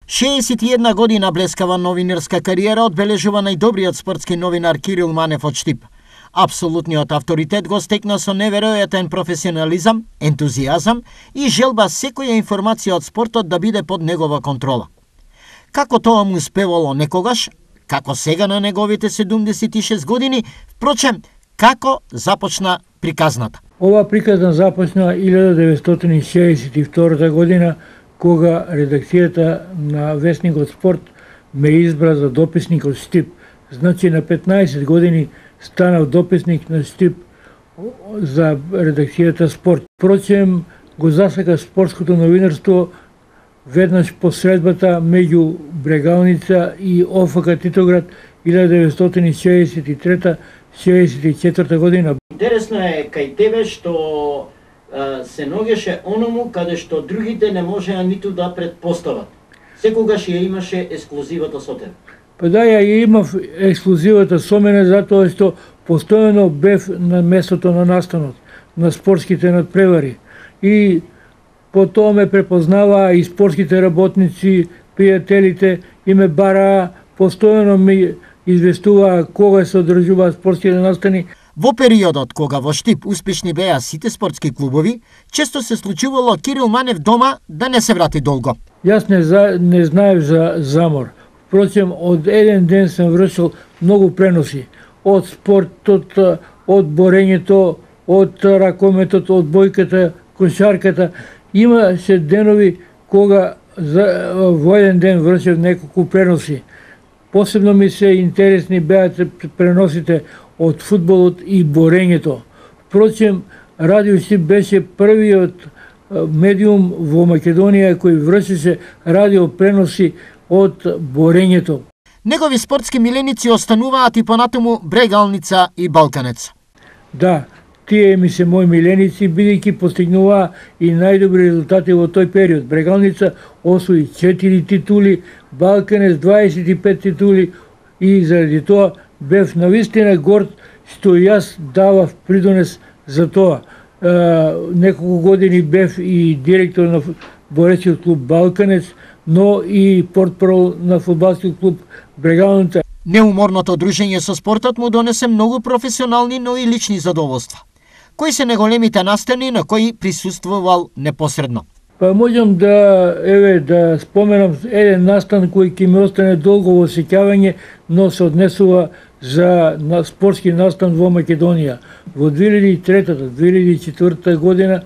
61 година блескава новинарска кариера одбележува најдобриот спортски новинар Кирил Манев од Штип. Апсолутниот авторитет го стекна со неверојатен професионализам, ентузијазам и желба секоја информација од спортот да биде под негова контрола. Како тоа му успевало некогаш, како сега на неговите 76 години, впрочем, како започна приказната. Ова приказна започна 1962 година, кога редакцијата на Весникот Спорт ме избра за дописник од Штип. Значи на 15 години станав дописник на Штип за редакцијата Спорт. Впрочем, го засака спортското новинарство веднаш по средбата меѓу Брегалница и ОФК Титоград 1963-64 година. Интересно е кај тебе што се ногеше оному каде што другите не можеа ниту да предпостават. Секогаш ја имаше ексклузивата со тебе. Па да, ја имав ексклузивата со мене затоа што постојано бев на местото на настанот, на спортските надпревари. И по тоа ме препознаваа и спортските работници, пријателите, и ме бараа, постојано ми известуваа кога се одржуваат спортските настани. Во периодот кога во Штип успешни беа сите спортски клубови, често се случувало Кирил Манев дома да не се врати долго. Јас не знаев за замор. Впрочем, од еден ден сам вршил многу преноси. Од спортот, од борењето, од ракометот, од бојката, кошарката. Имаше денови кога во еден ден вршев неколку преноси. Посебно ми се интересни беа преносите од фудбалот и борењето. Впрочем, Радио Штип беше првиот медиум во Македонија кој вршеше радио преноси од борењето. Негови спортски миленици остануваат и понатаму Брегалница и Балканец. Да, тие ми се мои миленици, бидејќи постигнуваа и најдобри резултати во тој период. Брегалница освои 4 титули, Балканец 25 титули и заради тоа бев навистина горд што јас давав придонес за тоа. Неколку години бев и директор на боречиот клуб Балканец, но и портпарол на фудбалскиот клуб Брегалница. Неуморното дружење со спортот му донесе многу професионални, но и лични задоволства. Кои се најголемите настани на кои присуствувал непосредно? Па можам да споменам еден настан кој ќе ми остане долго во сеќавање, но се однесува за спортски настан во Македонија. Во 2003-2004 година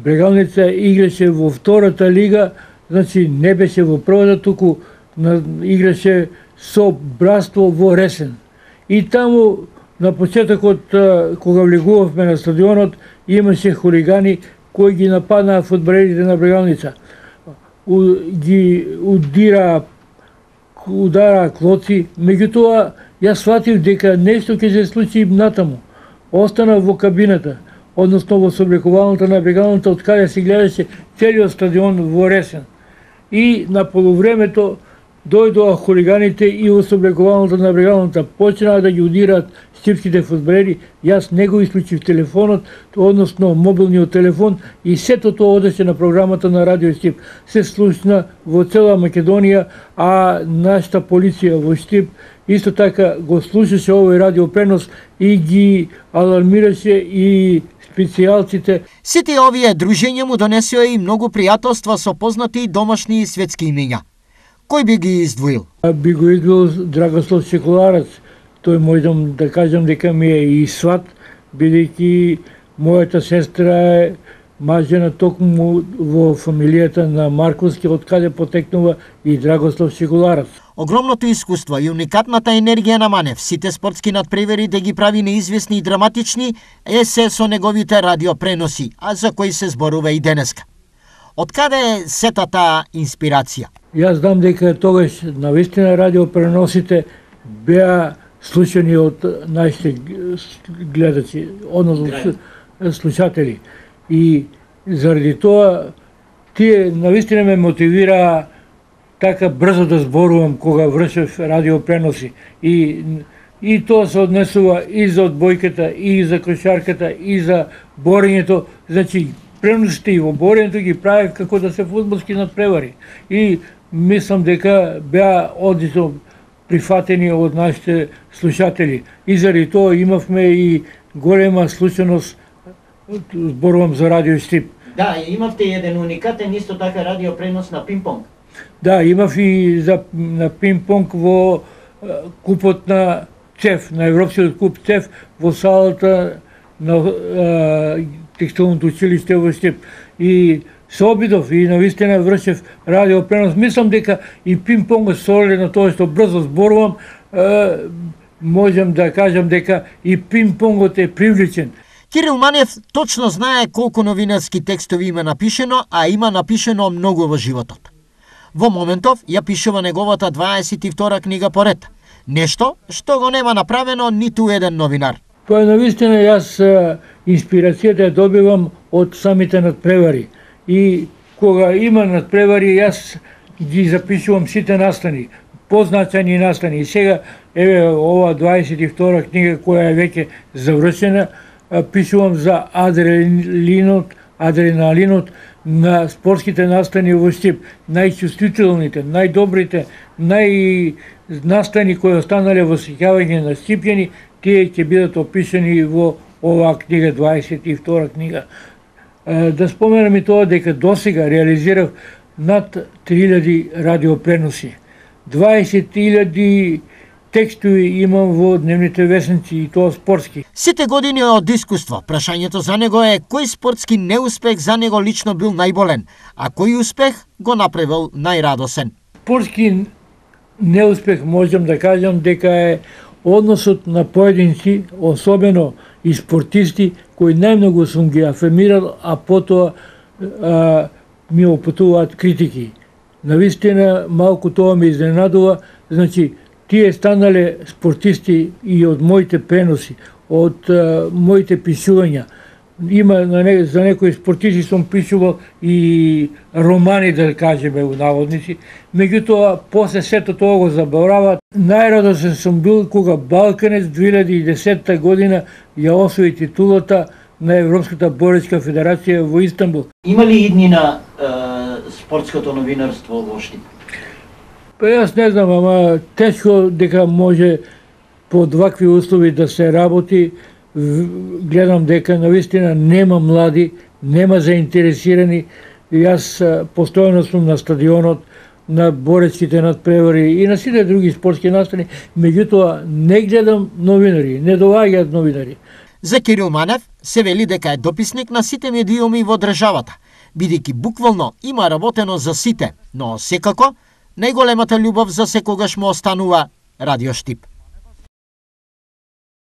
Брегалница играше во втората лига, значи не беше во првата, туку играше со братство во Ресен. И таму на почетокот кога влегувавме на стадионот имаше хулигани кои ги нападнаа фудбалерите на Брегалница. Ги удараа клоци, меѓутоа јас сватив дека нешто ќе се случи натаму. Останав во кабината, односно во соблекувалната на Брегалница, од каде се гледаше целиот стадион во Ресен. И на полувремето дојдоа хулиганите и во соблекувалната на Брегалница почнаа да ги удираат штипските фудбалери. Јас не го исклучив телефонот, односно мобилниот телефон, и сето тоа одеше на програмата на Радио Штип. Се слушна во цела Македонија, а нашата полиција во Штип исто така го слушаше овој радиопренос и ги алармираше и специјалците. Сите овие дружења му донесоа и многу пријателства со познати домашни и светски имења. Кој би ги издвоил? Би го издвоил Драгослав Чекуларец. Тој можам да кажам дека ми е и сват, бидејќи мојата сестра е мажена токму во фамилијата на Марковски, од каде потекнува и Драгослав Чекуларец. Огромното искуство и уникатната енергија на Манев, сите спортски надпревари да ги прави неизвестни и драматични, е се со неговите радиопреноси, а за кои се зборува и денеска. Од каде е сета таа инспирација? Јас знам дека тогаш навистина радиопреносите беа слушани од нашите гледачи, односно слушатели. И заради тоа тие навистина ме мотивираа така брзо да зборувам кога вршев радиопреноси. И тоа се однесува и за одбојката, и за кошарката, и за борењето. Значи, преносите и во борењето ги правев како да се фудбалски надпревари. И мислам дека беа одлично прифатени од нашите слушатели. И заради тоа имавме и голема случајност, зборувам за Радио Штип. Да, имавте еден уникатен исто така радио пренос на пинг-понг. Да, имав и на пинг-понг во купот на ЦЕФ, на Европскиот куп ЦЕФ, во салата на текстилното училиште во Штип. И се обидов и навистина вршев радио пренос. Мислам дека и пинг-понгот соле на тоа што брзо зборувам, можам да кажам дека и пинг-понгот е привлечен. Кирил Манев точно знае колку новинарски текстови има напишено, а има напишено многу во животот. Во моментов ја пишува неговата 22 книга поред. Нешто што го нема направено ниту еден новинар. Тоа навистина јас инспирацијата ја добивам од самите надпревари. И кога има надпревари, јас ги запишувам сите настани, позначајни настани. И сега, еве, ова 22 книга која е веќе завршена, пишувам за адреналинот на спортските настани во Штип. Најчувствителните, најдобрите, настани кои останале во сеќавање на штипјани, тие ќе бидат опишани во оваа книга, 22 книга. Да споменам и тоа дека досега реализирав над 3000 радиопреноси. 20.000 текстови имам во дневните весници и тоа спортски. Сите години од искуство, прашањето за него е кој спортски неуспех за него лично бил најболен, а кој успех го направил најрадосен. Спортски неуспех можам да кажам дека е односот на поединци, особено и спортисти, кои најмногу сум ги афирмирал, а потоа ми опутуваат критики. Навистина, малку тоа ме изненадува, значи, тие станале спортисти и од моите преноси, од моите пишувања. Има за некои спортисти сум пишувал и романи, да кажеме, у наводници. Меѓутоа, после сето тоа го забораваат. Најрадосен сум бил кога Балканец 2010 година ја освои титулата на Европската боречка федерација во Истанбул. Има ли идни на спортското новинарство во Штип? Па јас не знам, ама тешко дека може под вакви услови да се работи. Гледам дека навистина нема млади, нема заинтересирани. Јас постојано сум на стадионот, на боречките надпревари и на сите други спортски настани, меѓутоа не гледам новинари, не доаѓаат новинари. За Кирил Манев се вели дека е дописник на сите медиуми во државата, бидејќи буквално има работено за сите, но секако најголемата љубов за секогаш му останува Радио Штип.